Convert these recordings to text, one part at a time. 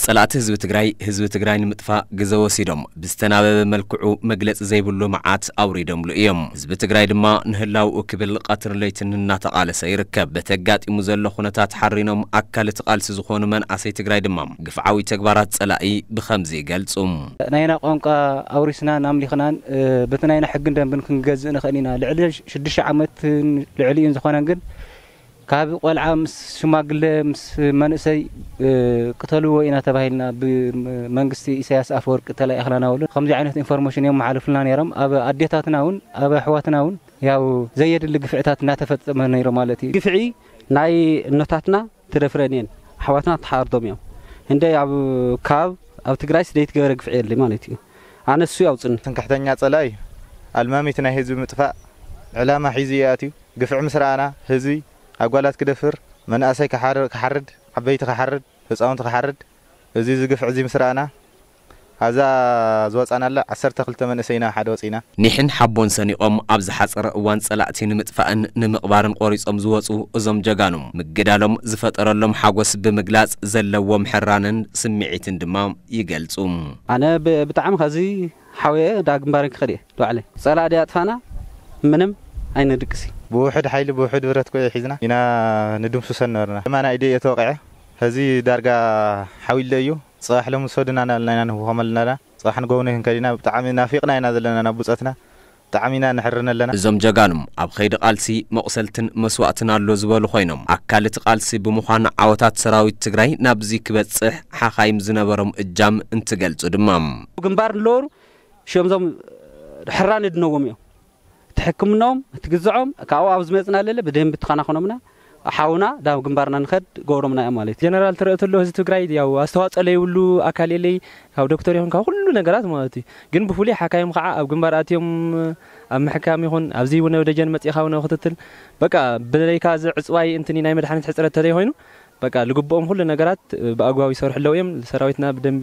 ጸላእቲ ህዝቢ ትግራይ፣ ህዝቢ ትግራይ ንምጥፋእ ግዘ ወሲዶም ብዝተናበበ መልክዑ መግለጺ ዘይብሉ መዓት ኣውሪዶምሉ እዮም። ህዝቢ ትግራይ ድማ ንህላውኡ ክብል ቀትርን ለይትን እናተቓለሰ ይርከብ። በቲ ኣጋጢሙ ዘሎ ኩነታት ሓሪኖም ኣካል እቲ ቃልሲ ዝኾኑ መናእሰይ ትግራይ ድማ ግፍዓዊ ተግባራት ጸላኢ ብኸምዚ ይገልጹ። ናይና ቋንቋ ኣውሪስናን ኣምሊኽናን፣ እ፣ በቲ ናይና ሕግን ደንብን ክንገዝእ ንኽእል ኢና። ልዕሊ ሽዱሽተ ዓመትን ልዕሊኡን ዝኾነን ግን ካብ ቆልዓ ምስ ሽማግለ ምስ መንእሰይ፣ እ፣ ቅተልዎ ኢና ተባሂልና ብመንግስቲ ኢሳያስ ኣፈወርቂ ተላኢኽና ናበሉ። ከምዚ ዓይነት ኢንፎርሜሽን እዮም መሓልፍልና ነይሮም። ኣብ ኣዴታትና እውን ኣብ ኣሕዋትና እውን ያው ዘየድሊ ግፍዕታት እናተፈጸመ ነይሩ ማለት እዩ። ግፍዒ ናይ እኖታትና ትደፍረን እየን፣ ኣሕዋትና ተሓርዶም እዮም። እንደ ኣብ ካብ ኣብ ትግራይስ ዘይትገበረ ግፍዒ የለ ማለት እዩ። ኣነ እሱ ያውፅኒ። ትምክሕተኛ ጸላኢ ኣልማሚት ናይ ህዝቢ ምጥፋእ ዕላማ ሒዙ እዩ ኣትዩ። ግፍዒ ምስ ረኣና ህዝቢ ኣጓላት ክደፍር፣ መናእሰይ ክሓር-፣ ክሓርድ፣ ዓበይቲ ክሓርድ፣ ህፃውንቲ ክሓርድ፣ እዚ እዚ ግፍዒ እዚ ምስ ረኣና ኣብዛ ዝወፃናላ ዓሰርተ ክልተ መንእሰይና ሓደ ወፂና። ኒሕን ሓቦን ሰኒቖም ኣብ ዝሓፀረ እዋን ጸላእቲ ንምጥፋእን ንምቕባርን ቆሪጾም ዝወፁ እዞም ጀጋኑ ምግዳሎም ዝፈጠረሎም ሓጎስ ብምግላጽ ዘለዎም ሕራንን ስምዒትን ድማ ይገልጹ። ኣነ ብ-፣ ብጣዕሚ ከዚ ሓውየ ዳ ግንባረን ክኸድ እየ ዶ ባዕለይ። ጸላእ ድያ ኣጥፋና ምንም ኣይነድቅሲ። ብውሕድ ሓይሊ ብውሕድ ብረት ኮ ሒዝና ኢና ንድምስሶ ነበርና። የማናይ ኢደ እየ ተወቂዐ። ሕዚ ዳርጋ ሓዊለ እዩ። ጽባሕ ሎሚ ሰዱና እናበልና ኢና ንህወኸመልና። ጽባሕ ንጎብኒ ክንከድ ኢና። ብጣዕሚ ናፊቕና ኢና ዘለና ናብ ብጾትና። ብጣዕሚ ኢና ንሕርን ኣለና። እዞም ጀጋኑ ኣብ ኸይዲ ቃልሲ መቑሰልትን መስዋእትን ኣሎ ዝበሉ ኮይኖም፣ ኣካል እቲ ቃልሲ ብምዃን ዓወታት ሰራዊት ትግራይ ናብዚ ክበጽሕ ሓኻይም ዝነበሮም እጃም እንትገልጹ ድማ። ግንባር ንለወሩ ሽምዞም ሕራን እድነዎም እዮም። እቲ ሕክምናኦም፣ እቲ ግዝዖም ካብኡ ኣብ ዝመጽና ለለ ብደንብ ተኸናኸኖምና፣ ሓውና ዳብ ግንባርና ንኸድ ገብሮምና እዮም ማለት እዩ። ጀነራል ትረእ ተሎ ህዝቢ ትግራይ ያው ኣስተዋፅኦ ለይብሉ ኣካል የለይ፣ ካብ ዶክተር ይኹን ካብ ኩሉ ነገራት ማለት እዩ። ግን ብፍሉይ ሓካይም ከዓ ኣብ ግንባር ኣትዮም ኣብ ምሕካም ይኹን ኣብዚ እውን ደጀን መፂኻ እውን ክትትል በቃ ብዘይካ እዚ ዕፅዋይ እንትን ናይ መድሓኒት ሕፅረት ተዘይኮይኑ በቃ ልግብኦም ኩሉ ነገራት ብኣግባቡ ይሰርሑ ኣለዉ እዮም። ሰራዊትና ብደንቢ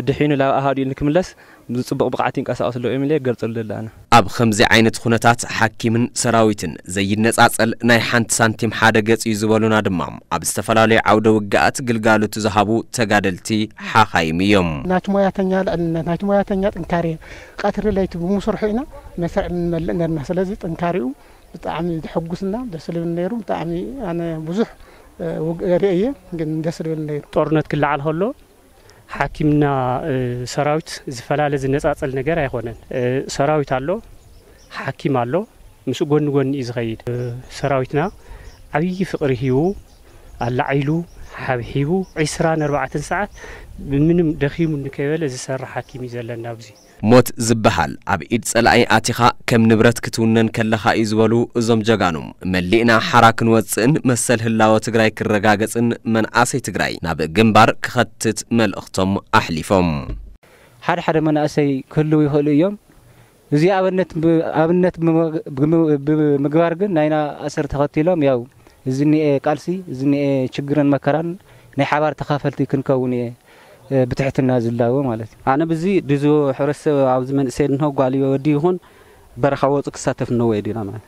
ድሒኑ ላብ ኣሃዱ ኢሉ ንክምለስ ብፅቡቕ ብቕዓት ይንቀሳቐሱ ኣለዉ እዮም ኢለ ክገልጸሉ ደሊ ኣነ። ኣብ ከምዚ ዓይነት ኩነታት ሓኪምን ሰራዊትን ዘይነጻጸል ናይ ሓንቲ ሳንቲም ሓደ ገጽ እዩ ዝበሉና ድማ ኣብ ዝተፈላለዩ ዓውደ ውግኣት ግልጋሎት ዝሃቡ ተጋደልቲ ሓኻይም እዮም። ናይቲ ሞያተኛ ልዕልነት፣ ናይቲ ሞያተኛ ጥንካሬ፣ ቀትሪ ለይቲ ብምስርሑ ኢና መስርዕ ንመልእ ነርና። ስለዚ ጥንካሬኡ ብጣዕሚ ዘሐጉስና ደስ ዝብል ነይሩ። ብጣዕሚ ኣነ ብዙሕ፣ እ፣ ውግ-፣ ርእየ ግን ደስ ዝብል ነይሩ። ጦርነት ክለዓል ከሎ ሓኪምና፣ እ፣ ሰራዊት ዝፈላለ ዝነጻጸል ነገር ኣይኮነን። እ፣ ሰራዊት ኣሎ፣ ሓኪም ኣሎ፣ ምስ ጎኒ ጎኒ እዩ ዝኸይድ። እ፣ ሰራዊትና ዓብዪ ፍቕሪ ሂቡ፣ ኣላዒሉ፣ ሓብሒቡ፣ ዒስራን ኣርባዕተን ሰዓት ምንም ደኺሙ እንከይበለ ዝሰርሕ ሓኪም እዩ ዘለና ኣብዚ። ሞት ዝበሃል ኣብ ኢድ ጸላኢ ኣቲኻ ከም ንብረት ክትውነን ከለኻ እዩ ዝበሉ እዞም ጀጋኑ፣ መሊእና ሓራ ክንወጽእን መሰል ህላወ ትግራይ ክረጋገጽን መንኣሰይ ትግራይ ናብ ግንባር ክኸትት መልእኽቶም ኣሕሊፎም። ሓደ ሓደ መናእሰይ ክህልዉ ይኽእሉ እዮም። እዚ ኣብነት ብ-፣ ኣብነት ብምግ-፣ ብምግ-፣ ብምግባር ግን ናይና ኣሰር ተኸቲሎም ያው እዚ እኒኤ ቃልሲ፣ እዚ እኒኤ ችግርን መከራን ናይ ሓባር ተኻፈልቲ ክንከውን እየ፣ እ፣ ብትሕትና ዝላቦ ማለት እዩ። ኣነ ብዚ ድዚ ሕብረተሰብ ኣብዚ መንእሰይ እንሆ ጓል ወዲ ይኹን በረኻ ወፁ ክሳተፍ እነወ ድና ማለት።